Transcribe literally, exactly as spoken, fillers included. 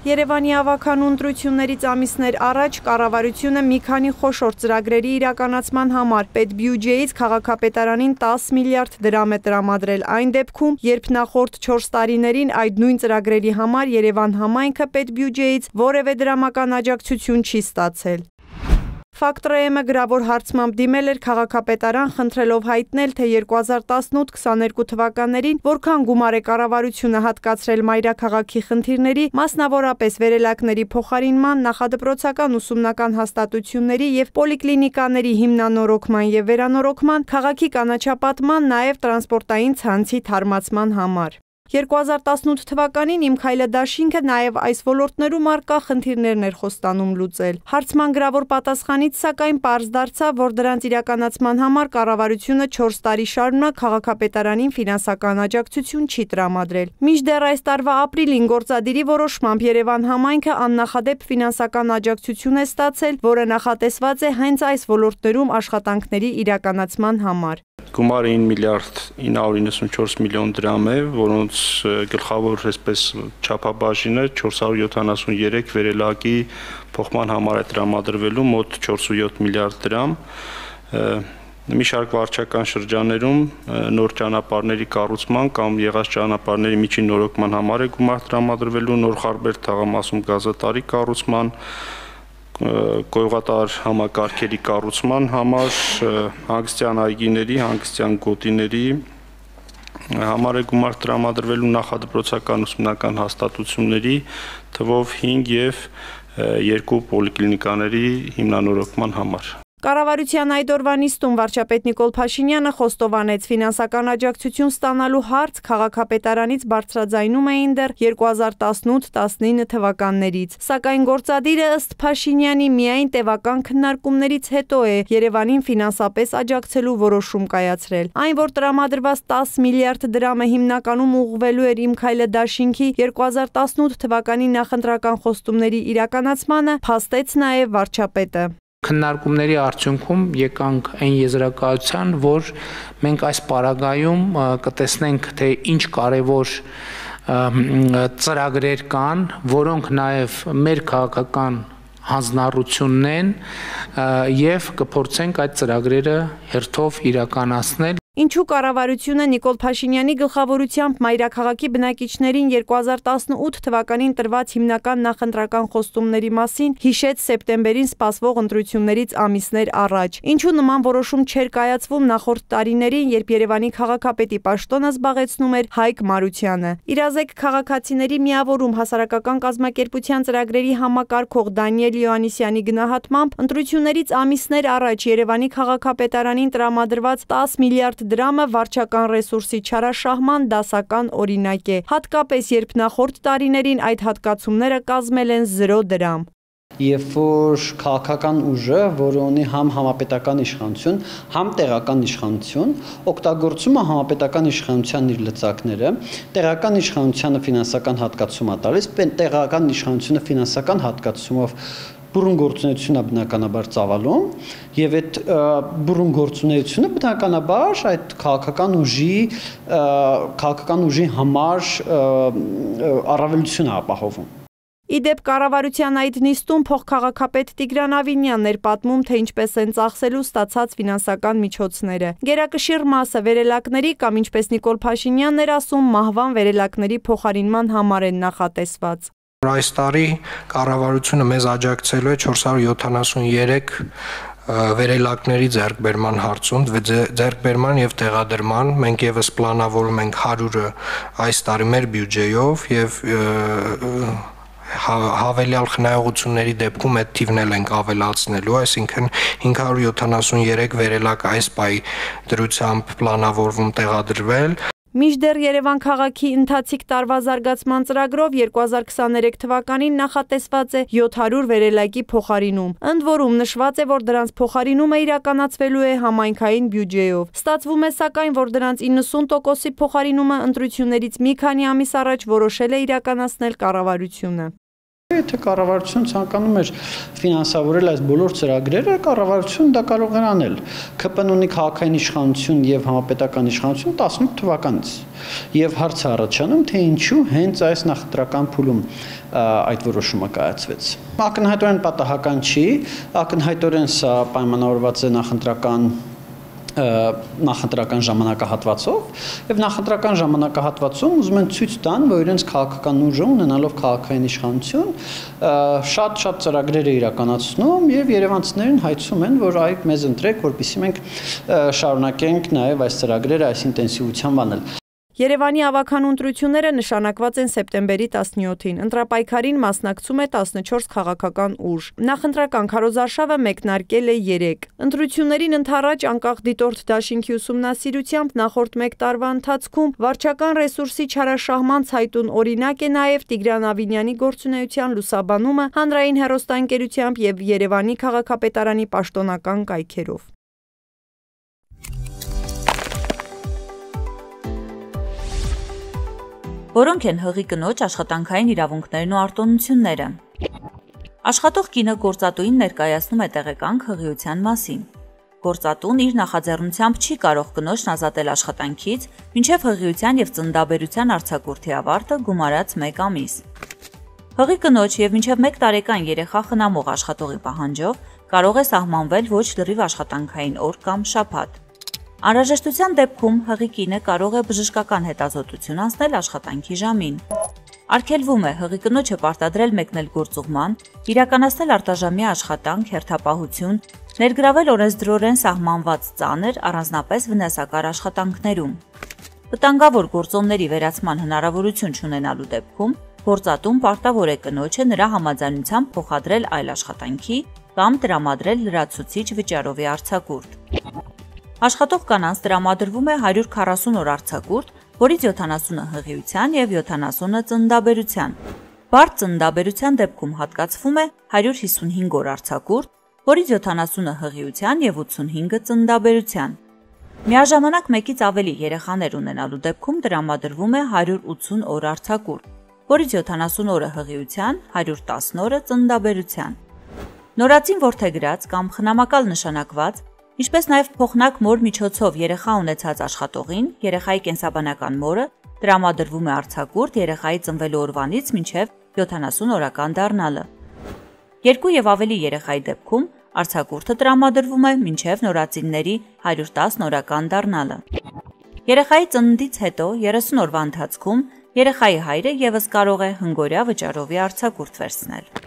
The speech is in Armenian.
Երևանի ավագանու ընտրություններից ամիսներ առաջ կառավարությունը մի քանի խոշոր ծրագրերի իրականացման համար պետբյուջեից քաղաքապետարանին տասը միլիարդ դրամ է տրամադրել այն դեպքում, երբ նախորդ չորս տարիներին այդ նույն ծրագրերի համար Երևան համայնքը պետբյուջեից որևէ դրամական աջակցություն չի ստացել։ Ֆակտորը գրավոր հարցմամբ դիմել էր քաղաքապետարան խնդրելով հայտնել, թե երկու հազար տասնութ քսաներկու թվականներին որքան գումար է կառավարությունը հատկացրել մայրաքաղաքի խնդիրների, մասնավորապես վերելակների փոխարինման, նախադպրոցական ուսումնական հաստատությունների և պոլիկլինիկաների հիմնանորոգման և վերանորոգման, քաղաքի կանաչապատման, նաև տրանսպորտային ցանցի թարմացման համար։ երկու հազար տասնութ թվականին Իմ քայլը դաշինքը նաև այս ոլորտներում առկա խնդիրներն էր խոստանում լուծել։ Հարցման գրավոր պատասխանից սակայն պարզ դարձավ, որ դրանց իրականացման համար կառավարությունը չորս տարի շարունակ քաղաքապետարանին ֆինանսական աջակցություն չի տրամադրել։ Մինչդեռ այս տարվա ապրիլին գործադիրի որոշմամբ Երևան համայնքը աննախադեպ ֆինանսական աջակցություն է ստացել, որը նախատեսված է հենց այս ոլորտներում աշխատանքների իրականացման համար։ Գումարը ինը միլիարդ ինը հարյուր իննսունչորս միլիոն դրամ է, որոնց գլխավոր այսպես չափաբաժինը չորս հարյուր յոթանասունյերեք վերելակի փոխման համար է տրամադրվելու մոտ չորսույոթ միլիարդ դրամ։ Մի շարք վարչական շրջաններում նոր ճանապարհների կառուցման կամ եղած ճանապարհների միջին նորոգման համար է գումար տրամադրվելու, նոր Խարբերդ թաղամասում գազատարի կառուցման, գյուղատար համակարգերի կառուցման համար, հանգստյան այգիների, հանգստյան գոտիների համար է գումար տրամադրվելու, նախադպրոցական ուսումնական հաստատությունների թվով հինգ և երկու պոլիկլինիկաների հիմնանորոգման համար։ Կառավարության այդ օրվա նիստում վարչապետ Նիկոլ Փաշինյանը խոստովանեց, ֆինանսական աջակցություն ստանալու հարց քաղաքապետարանից բարձրաձայնում էին դեռ երկու հազար տասնութ տասնինը թվականներից, սակայն գործադիրը ըստ Փաշինյանի միայն տևական քննարկումներից հետո է Երևանին ֆինանսապես աջակցելու որոշում կայացրել։ Այն, որ տրամադրված տասը միլիարդ դրամը հիմնականում ուղղվելու էր Իմ քայլը դաշինքի երկու հազար տասնութ թվականի նախընտրական խոստումների իրականացմանը, փաստեց նաև վարչապետը։ Քննարկումների արդյունքում եկանք այն եզրակացության, որ մենք այս պարագայում կտեսնենք, թե ինչ կարևոր ծրագրեր կան, որոնք նաև մեր քաղաքական հանձնառությունն են և կփորձենք այդ ծրագրերը հերթով իրականացնել։ Ինչու կառավարությունը Նիկոլ Փաշինյանի գլխավորությամբ մայրաքաղաքի բնակիչներին երկու հազար տասնութ թվականին տրված հիմնական նախընտրական խոստումների մասին հիշեց սեպտեմբերին սպասվող ընտրություններից ամիսներ առաջ։ Ինչու նման որոշում չէր կայացվում նախորդ տարիներին, երբ Երևանի քաղաքապետի պաշտոնը զբաղեցնում էր Հայկ Մարությանը։ Իրազեկ քաղաքացիների միավորում հասարակական կազմակերպության ծրագրերի համակարգող Դանիել Յոհաննիսյանի գնահատմամբ ընտրություններից ամիսներ առաջ Երևանի քաղաքապետարանին տրամադրված տասը միլիարդ դրամը վարչական ռեսուրսի չարաշահման դասական օրինակ է, հատկապես երբ նախորդ տարիներին այդ հատկացումները կազմել են զրո դրամ։ Երբ որ քաղաքական ուժը, որը ունի համ համապետական իշխանություն, համ տեղական իշխանություն, օգտագործում է համապետական իշխանության իր լծակները, տեղական իշխանությանը ֆինանսական հատկացում է տալիս, տեղական իշխանությունը ֆինանսական հատկացումով բուրըն գործունեություն է բնականաբար ծավալում և այդ բուրըն գործունեությունը բնականաբար այդ քաղաքական ուժի քաղաքական ուժի համար առավելություն է ապահովում։ Իդեպ կառավարության այդ նիստում փոխքաղաքապետ Տիգրան Ավինյանն էր պատմում, թե ինչպես են ծախսելու ստացած ֆինանսական միջոցները։ Գերակշիռ մասը վերելակների կամ ինչպես Նիկոլ Փաշինյանն էր ասում, մահվան վերելակների փոխարինման համար են նախատեսված։ Այս տարի կառավարությունը մեզ աջակցելու է չորս հարյուր յոթանասունյերեք վերելակների ձեռքբերման հարցում, ձեռքբերման և տեղադրման, մենք ևս պլանավորում ենք հարյուրը այս տարի մեր բյուջեով և հավելյալ խնայողությունների դեպքում այդ թիվն էլ ենք ավելացնելու, այսինքն հինգ հարյուր յոթանասունյերեք վերելակ այս պահի դրությամբ պլանավորվում տեղադրվել։ Մինչդեռ Երևան քաղաքի ընթացիկ տարվա զարգացման ծրագրով երկու հազար քսաներեք թվականին նախատեսված է յոթ հարյուր վերելակի փոխարինում։ Ընդ որում նշված է, որ դրանց փոխարինումը իրականացվելու է համայնքային բյուջեով։ Ստացվում է սակայն, որ դրանց իննսուն տոկոսի փոխարինումը ընտրություններից մի քանի ամիս առաջ որոշել է իրականացնել կառավարությունը։ Եթե կառավարությունը ցանկանում էր ֆինանսավորել այս բոլոր ծրագրերը, կառավարությունը դա կարող էր անել։ ՔՊ ունի քաղաքային իշխանություն եւ համապետական իշխանություն տասնութ թվականից։ Եվ հարցը առաջանում, թե ինչու հենց այս նախընտրական փուլում այդ որոշումը կայացվեց։ Ակնհայտորեն պատահական չի, ակնհայտորեն սա պայմանավորված է նախընտրական նախընտրական ժամանակահատվածով եւ նախընտրական ժամանակահատվածում ուզում են ցույց տան, որ իրենց քաղաքական ուժը ունենալով քաղաքային իշխանություն շատ-շատ ծրագրեր է իրականացնում եւ երևանցիներին հայցում են, որ այ մեզ ընտրեք, որպեսզի մենք շարունակենք նաեւ այս ծրագրերը այս ինտենսիվությամբ անել։ Երևանի ավագան ընտրությունները նշանակված են սեպտեմբերի տասնյոթին։ Ընտրապայքարին մասնակցում է տասնչորս քաղաքական ուժ։ Նախընտրական քարոզարշավը մեկնարկել է երեք։ Ընտրություններին ընդառաջ անկախ դիտորդ դաշինքի ուսումնասիրությամբ նախորդ մեկ տարվա ընթացքում վարչական ռեսուրսի չարաշահման ցայտուն օրինակ է նաև Տիգրան Ավինյանի գործունեության լուսաբանումը հանրային հեռուստաընկերությամբ եւ Երևանի քաղաքապետարանի պաշտոնական կայքերով։ Որոնք են հղի կնոջ աշխատանքային իրավունքներն ու արտոնությունները։ Աշխատող կինը գործատուին ներկայացնում է տեղեկանք հղիության մասին։ Գործատուն իր նախաձեռնությամբ չի կարող կնոջն ազատել աշխատանքից, մինչև հղիության եւ ծննդաբերության արձակուրդի ավարտը գումարած մեկ ամիս։ Հղի կնոջ եւ մինչև մեկ տարեկան երեխա խնամող աշխատողի պահանջով կարող է սահմանվել ոչ լրիվ աշխատանքային օր կամ շաբաթ։ Անհրաժեշտության դեպքում հղի կինը կարող է բժշկական հետազոտություն անցնել աշխատանքի ժամին։ Արգելվում է հղի կնոջը պարտադրել մեկնել գործուղման, իրականացնել արտաժամյա աշխատանք, հերթապահություն, ներգրավել օրենսդրորեն սահմանված ծանր, առանձնապես վնասակար աշխատանքներում։ Վտանգավոր գործոնների վերացման հնարավորություն չունենալու դեպքում գործատուն պարտավոր է կնոջը նրա համաձայնությամբ փոխադրել այլ աշխատանքի կամ տրամադրել լրացուցիչ վճարովի արձակուրդ։ Աշխատող կանանց տրամադրվում է հարյուր քառասուն օր արձակուրդ, որից յոթանասունը հղիության եւ յոթանասունը ծննդաբերության։ Բարդ ծննդաբերության դեպքում հատկացվում է հարյուր հիսունհինգ օր արձակուրդ, որից յոթանասունը հղիության եւ ութսունհինգը ծննդաբերության։ Միաժամանակ մեկից ավելի երեխաներ ունենալու դեպքում տրամադրվում է հարյուր ութսուն օր արձակուրդ, որից յոթանասուն օրը հղիության, հարյուր տասն օրը ծննդաբերության։ Նորածին որդեգրած կամ խնամակալ նշանակված, ինչպես նաև փոխնակ մոր միջոցով երեխա ունեցած աշխատողին, երեխայի կենսաբանական մորը տրամադրվում է արձակուրդ երեխայի ծնվելու օրվանից մինչև յոթանասուն օրական դառնալը։ Երկու եւ ավելի երեխայի դեպքում արձակուրդը տրամադրվում է մինչև նորածինների հարյուր տասն օրական դառնալը։ Երեխայի ծննդից հետո երեսուն օրվա ընթացքում երեխայի հայրը եւս կարող է հնգօրյա վճարովի արձակուրդ վերցնել։